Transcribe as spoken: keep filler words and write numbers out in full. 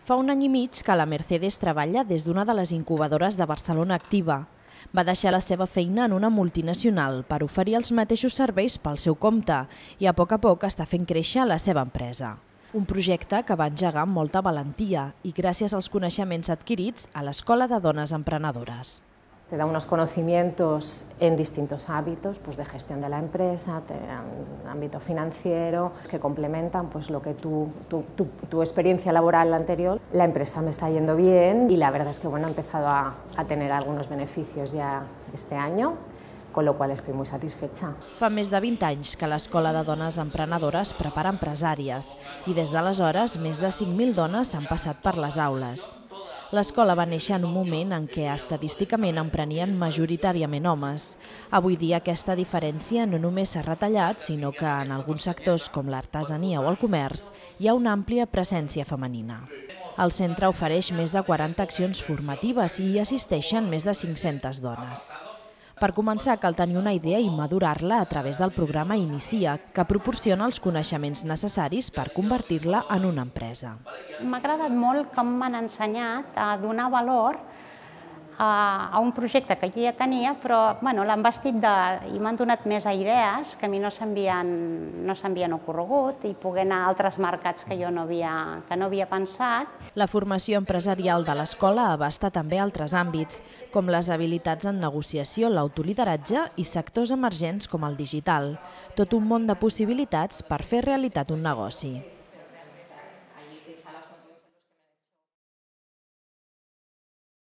Fa un any i mig que la Mercedes treballa des d'una de les incubadores de Barcelona Activa. Va deixar la seva feina en una multinacional per oferir els mateixos serveis pel seu compte i a poc a poc està fent créixer la seva empresa. Un projecte que va engegar amb molta valentia i gràcies als coneixements adquirits a l'Escola de Dones Emprenedores. Te da unos conocimientos en distintos ámbitos, pues de gestión de la empresa, en ámbito financiero, que complementan pues lo que tu, tu, tu, tu experiencia laboral anterior. La empresa me está yendo bien y la verdad es que bueno, he empezado a, a tener algunos beneficios ya este año, con lo cual estoy muy satisfecha. Fa més de vint anys que l'Escola de Dones Emprenedores prepara empresàries i des d'aleshores més de cinc mil dones han passat per les aules. L'escola va néixer en un moment en què estadísticament emprenien majoritàriament homes. Avui dia aquesta diferència no només s'ha retallat, sinó que en alguns sectors com l'artesania o el comerç hi ha una àmplia presència femenina. El centre ofereix més de quaranta accions formatives i hi assisteixen més de cinc-centes dones. Per començar, cal tenir una idea i madurar-la a través del programa Inicia, que proporciona els coneixements necessaris per convertir-la en una empresa. M'ha agradat molt com m'han ensenyat a donar valor a, a un projecte que jo ja tenia, però bueno, l'han vestit de, i m'han donat més idees que a mi no s'havien no s'havien ocorregut i poder anar a altres mercats que jo no havia, que no havia pensat. La formació empresarial de l'escola abasta també altres àmbits, com les habilitats en negociació, l'autolideratge i sectors emergents com el digital. Tot un món de possibilitats per fer realitat un negoci.